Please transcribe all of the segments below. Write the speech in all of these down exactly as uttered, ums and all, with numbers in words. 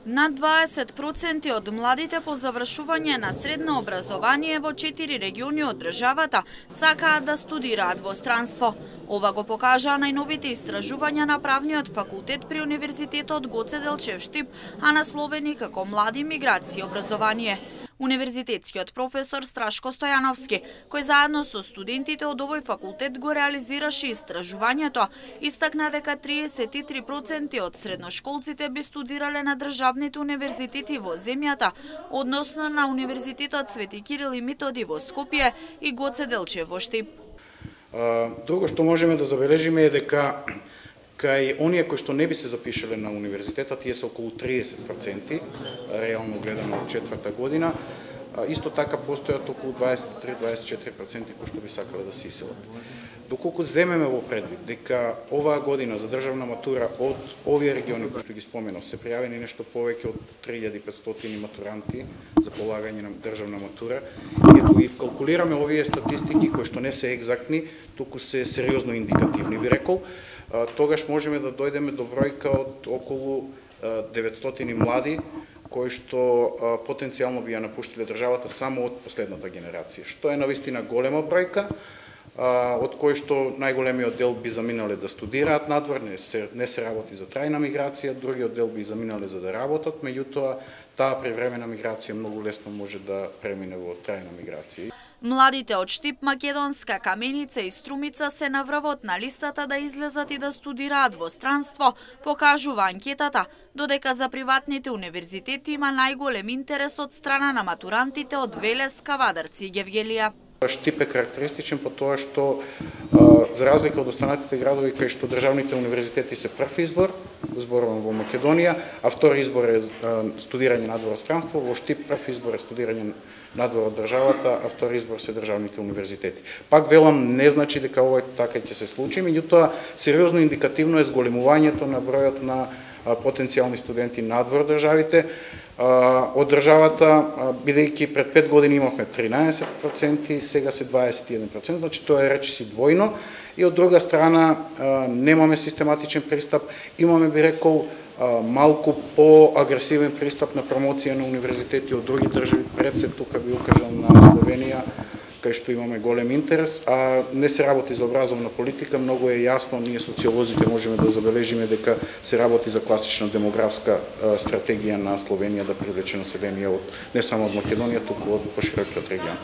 Над дваесет проценти од младите по завршување на средно образование во четири региони од државата сакаат да студираат во странство. Ова го покажаа најновите истражувања на правниот факултет при Универзитетот Гоце Делчев Штип, а насловени како Млади, миграција и образование. Универзитетскиот професор Страшко Стојановски, кој заедно со студентите од овој факултет го реализираше истражувањето, истакна дека триесет и три проценти од средношколците би студирале на државните универзитети во земјата, односно на Универзитетот Свети Кирил и Методи во Скопје и Гоце Делчев во Штип. Друго што можеме да забележиме е дека кај оние кои што не би се запишале на универзитетот, тие се околу триесет проценти, реално гледано од четврта година. Исто така постојат околу дваесет и три до дваесет и четири проценти кои што би сакале да се иселат. Доколку земеме во предвид дека оваа година за државна матура од овие региони кои што ги споменав се пријавени нешто повеќе од три илјади и петстотини матуранти за полагање на државна матура, и ако ги вкалкулираме овие статистики кои што не се екзактни, туку се сериозно индикативни, би рекол, тогаш можеме да дојдеме до бројка од околу деветстотини млади кои што потенцијално би ја напуштиле државата само од последната генерација, што е навистина голема бројка, од кои што најголемиот дел би заминале да студираат надвор, не се, не се работи за трајна миграција, другиот дел би заминале за да работат, меѓутоа таа превремена миграција многу лесно може да премине во трајна миграција. Младите од Штип, Македонска, Каменица и Струмица се на врвот на листата да излезат и да студираат во странство, покажува анкетата, додека за приватните универзитети има најголем интерес од страна на матурантите од Велес, Кавадарци и Гевгелија. Штип е карактеристичен по тоа што, за разлика од останатите градови кај што државните универзитети се прв избор, зборувам во Македонија, а втори избор е студирање надвор од странство, во Штип прв избор е студирање надвор од државата, а втори избор се државните универзитети. Пак велам, не значи дека ова така ќе се случи, меѓутоа сериозно индикативно е зголемувањето на бројот на потенцијални студенти надвор државите од државата, бидејќи пред пет години имавме тринаесет проценти, сега се дваесет и еден проценти, значи тоа е речиси двојно, и од друга страна немаме систематичен пристап, имаме, би рекол, малку по-агресивен пристап на промоција на универзитети од други држави, пред се тука би укажам на Словенија, кај што имаме голем интерес, а не се работи за образовна политика, многу е јасно, ние социолозите можеме да забележиме дека се работи за класична демографска стратегија на Словенија да привлече население од не само од Македонија, туку од поширокиот регион.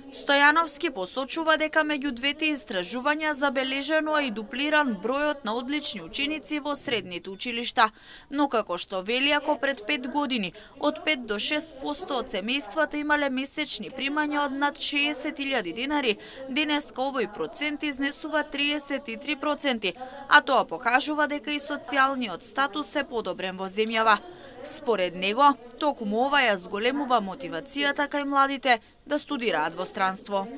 Стојановски посочува дека меѓу двете истражувања забележено е и дуплиран бројот на одлични ученици во средните училишта, но како што вели, ако пред пет години од пет до шест проценти од семејствата имале месечни примања од над шеесет илјади денари, денеска овој процент изнесува триесет и три проценти, а тоа покажува дека и социјалниот статус е подобрен во земјава. Според него, токму ова ја зголемува мотивацијата кај младите да студираат во странство.